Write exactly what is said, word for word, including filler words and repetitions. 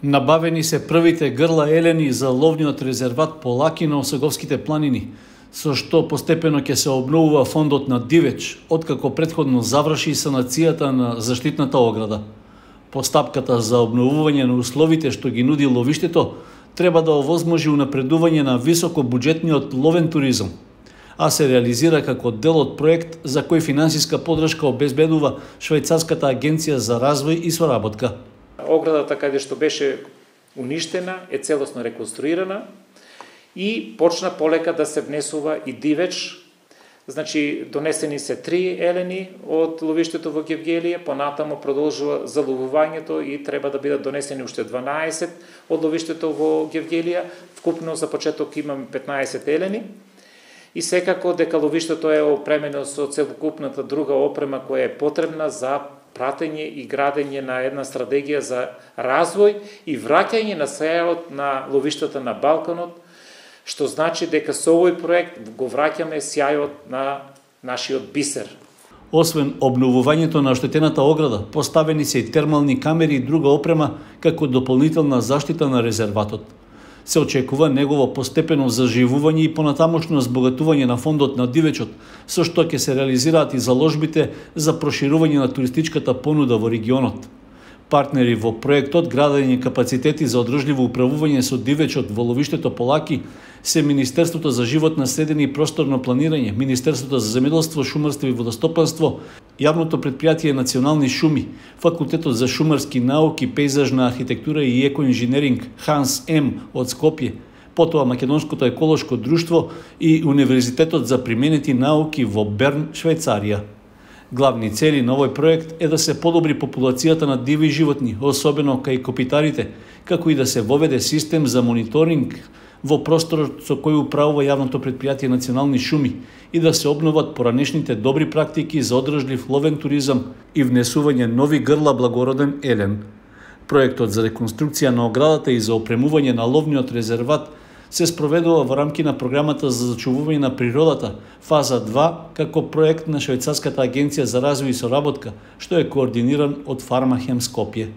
Набавени се првите грла елени за ловниот резерват Полаки на Осоговските планини, со што постепено ќе се обновува фондот на дивеч, откако претходно заврши санацијата на заштитната ограда. Постапката за обновување на условите што ги нуди ловиштето треба да овозможи унапредување на високобуџетниот ловен туризам, а се реализира како дел од проект за кој финансиска поддршка обезбедува Швајцарската агенција за развој и соработка. Оградата каде што беше уништена е целосно реконструирана и почна полека да се внесува и дивеч. Значи, донесени се три елени од ловиштето во Гевгелија, понатамо продолжува заловувањето и треба да бидат донесени уште дванаесет од ловиштето во Гевгелија. Вкупно за почеток имаме петнаесет елени. И секако дека ловиштето е опремено со целокупната друга опрема која е потребна за пратење и градење на една стратегија за развој и враќање на сејот на ловиштата на Балканот, што значи дека со овој проект го враќаме сјајот на нашиот бисер. Освен обновувањето на оштетената ограда, поставени се и термални камери и друга опрема како дополнителна заштита на резерватот. Се очекува негово постепено заживување и понатамошно збогатување на фондот на дивечот, со што ќе се реализираат и заложбите за проширување на туристичката понуда во регионот. Партнери во проектот градење капацитети за одржливо управување со дивечот во ловиштето Полаки се Министерството за животна средина и просторно планирање, Министерството за земјоделство, шумарство и водостопанство, Јавното претпријатие Национални шуми, Факултетот за шумарски науки, пејзажна архитектура и екоинженеринг Ханс М од Скопје, потоа Македонското еколошко друштво и Универзитетот за применети науки во Берн, Швајцарија. Главни цели на овој проект е да се подобри популацијата на диви животни, особено кај копитарите, како и да се воведе систем за мониторинг во просторот со кој управува Јавното претпријатие Национални шуми и да се обноват поранешните добри практики за одржлив ловен туризам и внесување нови грла благороден елен. Проектот за реконструкција на оградата и за опремување на ловниот резерват се спроведува во рамки на програмата за зачувување на природата, фаза два, како проект на Швајцарската агенција за развој и соработка, што е координиран од Фармахем Скопје.